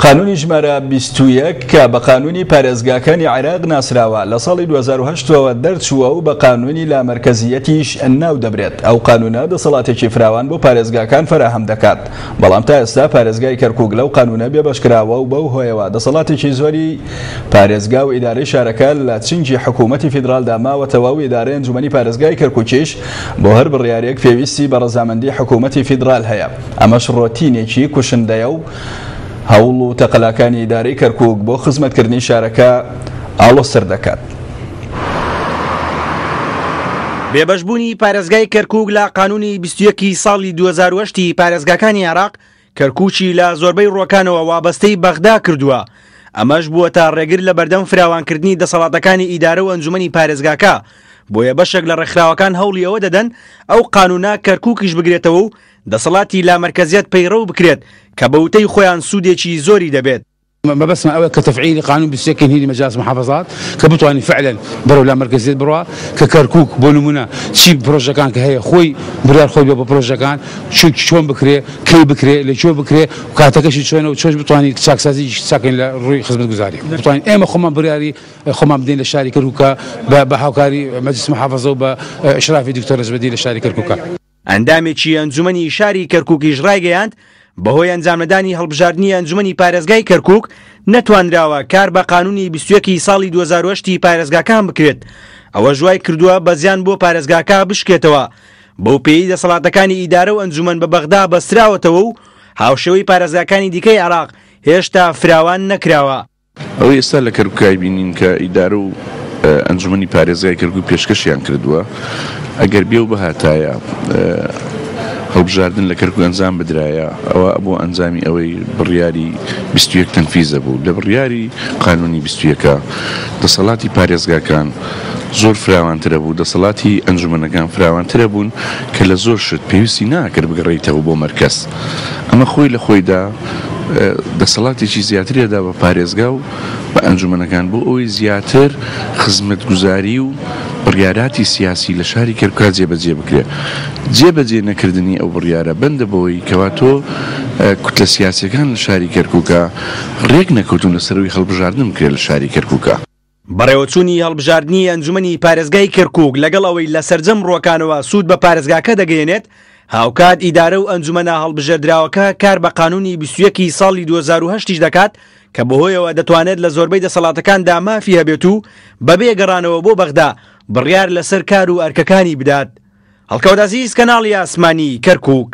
قانونی ژمارە 21 کە بە قانونی پارێزگاکانی عێراق ناسراوە لە ساڵی 2008ەوە دەرچووە و بە قانونی لامەرکەزیەتیش ناو دەبرێت. ئەو قانونە دەسەڵاتێکی فراوان بۆ پارێزگاکان فەراهەم دەکات، بەڵام تا ئێستا پارێزگای کەرکوک لەو قانونە بێبەشکراوە و بەو هۆیەوە دەسەڵاتێکی زۆری پارێزگا و ئیدارەی شارەکە لە چنگی حکوومەتی فیدرالدا ماوەتەوە و ئیدارەی ئەنجومەنی پارێزگای کەرکوکیش بۆ هەر بڕیارێک پێویستی بە ڕەزامەندی حکوومەتی فیدرال هەیە. ئەمەش ڕۆتینێکی کوشندەیە و هەوڵ و تەقەلاکانی ئیدارەی کەرکوک بۆ خزمەتکردنی شارەکە ئاڵۆزتر دەکات. بێبەشبوونی پارێزگای کەرکوک لە قانونی 21 ی ساڵی 2008 ی پارێزگاکانی عێراق، کەرکوکی لە زۆربەی ڕووەکانەوە وابەستەی بەغدا کردووە، ئەمەش بووەتە ڕێگر لە بەردەم فراوانکردنی دەسەڵاتەکانی ئیدارە و ئەنجومەنی پارێزگاکە، بۆیە بەشێک لە ڕێکخراوەکان هەوڵی ئەوە دەدەن ئەو قانونە کەرکوکیش بگرێتەوە و دەسەڵاتی لامەرکەزیەت پەیڕەو بکرێت کە بە وتەی خۆیان سوودێکی زۆری دەبێت. مەبەستمان ئەوەیە کە تەفعیلی قانون 21 هینی مەجاز محافظات کە بتوانین فعلا بەرەو لامەرکەزیەت بڕوا، کە کەرکوک بۆ نمونە چی پرۆژەکان کە هەیە خۆی بڕیار خۆی بێ بۆ پرۆژەکان چۆن بکرێ، کەی بکرێ، لە کوێ بکرێ و کاتەکەشی چۆنە و چۆش بتوانین چاکسازی چاکەین لە ڕووی خزمەتگوزاری، بتوانین ئێمە خۆمان بڕیاری خۆمان بدەین لە شاری کەرکوکە بە هاوکاری مەجلیس محافظە و بە ئیشرافی دکتۆر نەجمەدین لە شاری کەرکوکە. ئەندامێکی ئەنجومەنی شاری کەرکوکیش ڕایگەیاند، بەهۆی ئەنجامنەدانی هەڵبژاردنی ئەنجومەنی پارێزگای کەرکوک نەتوانراوە کار بە قانونی 21 ی ساڵی 2008 ی پارێزگاکان بکرێت، ئەوەش وای کردووە بە زیان بۆ پارێزگاکە بشکێتەوە، بەوپێیەی دەسەڵاتەکانی ئیدارە و ئەنجومەن بە بەغدا بەستراوەتەوە و هاوشێوەی پارێزگاکانی دیکەی عێراق هێشتا فراوان نەکراوە. ئەوەی ئێستا لە کەرکوکای بینین کە ئیدارە و ئەنجومەنی پارێزگای کەرکوک پێشکەشیان کردووە، ئەگەر بێ و بهاتایە هەڵبژاردن لە کەرکوک ئەنجام بدرایە ئەوا ئەبوو ئەنجامی ئەوەی بڕیاری 21 تەنفیزە بوو. لە بڕیاری قانونی 21 دەسەڵاتی پارێزگاکان زۆر فراوانترە بوو، دەسەڵاتی ئەنجومەنەکان فراوانترە بوون کە لە زۆر شت پێویستی ناکرد بگەڕێیتەوە بۆ مەرکەز. ئەمە خۆی لە خۆیدا دەسەڵاتێکی زیاتری ئەدا بە پارێزگا و بە ئەنجومەنەکان بۆ ئەوەی زیاتر خزمەتگوزاری و بڕیاراتی سیاسی لە شاری کەرکوکا جێبەجێ بکرێت. جێبەجێ نەکردنی ئەو بڕیارە بەندە بەوەی کەوا تۆ کوتلە سیاسیەکان لە شاری کەرکوکا رێک نەکەوتون لەسەر ئەوەی هەڵبژاردن بکرێت لە شاری کەرکوکا. بەڕێوەچوونی هەڵبژاردنی ئەنجومەنی پارێزگای کەرکوک لەگەڵ ئەوەی لە سەرجەم ڕووەکانەوە سوود بە پارێزگاکە دەگەیەنێت، هاوکات ئیدارە و ئەنجومەنە هەڵبژێردراوەکە کار بە قانونی 21 ی ساڵی 2008 یش دەکات کە بەهۆیەوە دەتوانێت لە زۆربەی دەسەڵاتەکاندا مافی هەبێت و بەبێ گەڕانەوە بۆ بەغدا بڕیار لەسەر کار و ئەرکەکانی بدات. هەڵکەوت عەزیز، کەناڵی ئاسمانی کەرکوک.